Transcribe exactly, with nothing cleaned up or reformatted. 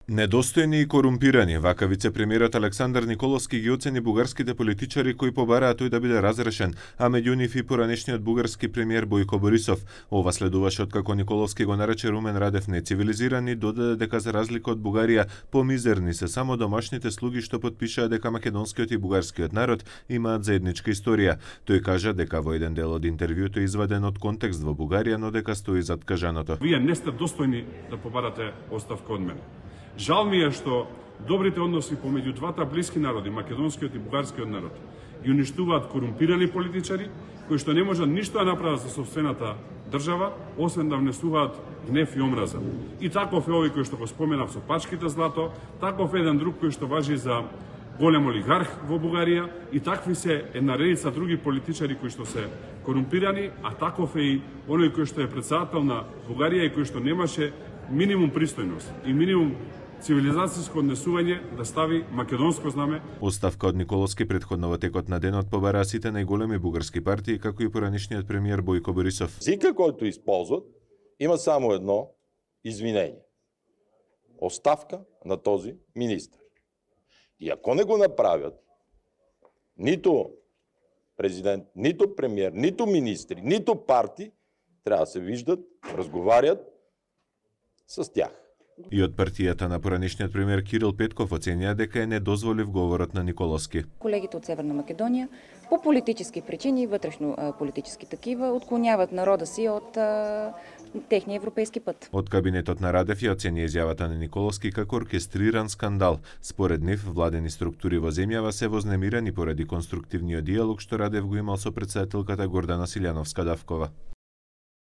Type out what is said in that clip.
Недостојни и корумпирани, вака вице-премиерот Александар Николовски ги оцени бугарските политичари кои побараат тој да биде разрешен, а меѓу нив и поранешниот бугарски премиер Бојко Борисов. Ова следуваше откако Николовски го нарече Румен Радев нецивилизиран и додаде дека за разлика од Бугарија, помизерни се само домашните слуги што потпишаа дека македонскиот и бугарскиот народ имаат заедничка историја. Тој кажа дека во еден дел од интервјуто изваден од контекст во Бугарија, но дека стои зад кажаното. Вие не сте достојни да побарате оставка од мене. Жал ми е што добрите односи помеѓу двата блиски народи, македонскиот и бугарскиот народ, ги уништуваат корумпирани политичари кои што не можат ништо да направат за собствената држава, освен да внесуваат гнев и омраза. И таков е овој кој што го споменав со пачките злато, таков е еден друг кој што важи за голем олигарх во Бугарија, и такви се една редица други политичари кои што се корумпирани, а таков е и оној кој што е претседател на Бугарија и кој што немаше минимум пристојност и минимум цивилизацијско однесување да стави македонско знаме. Оставка од Николовски претходно во текот на денот побараа сите најголеми бугарски партии, како и поранешниот премиер Бојко Борисов. Езикот којто исползват има само едно извинење. Оставка на този министр. И ако не го направят, ниту президент, ниту премиер, ниту министри, ниту партии треба да се виждат, разговарјат с тях. И од партијата на поранешниот премиер Кирил Петков оценија дека е недозволив говорот на Николовски. Колегите од Северна Македонија по политички причини, вътрешно политички такива, отклоняват народа си од а, техния европейски пат. Од кабинетот на Радев ја оцени изјавата на Николовски како оркестриран скандал. Според нив, владени структури во земјава се вознемирани поради конструктивниот диалог што Радев го имал со претседателката Гордана Силјановска-Давкова.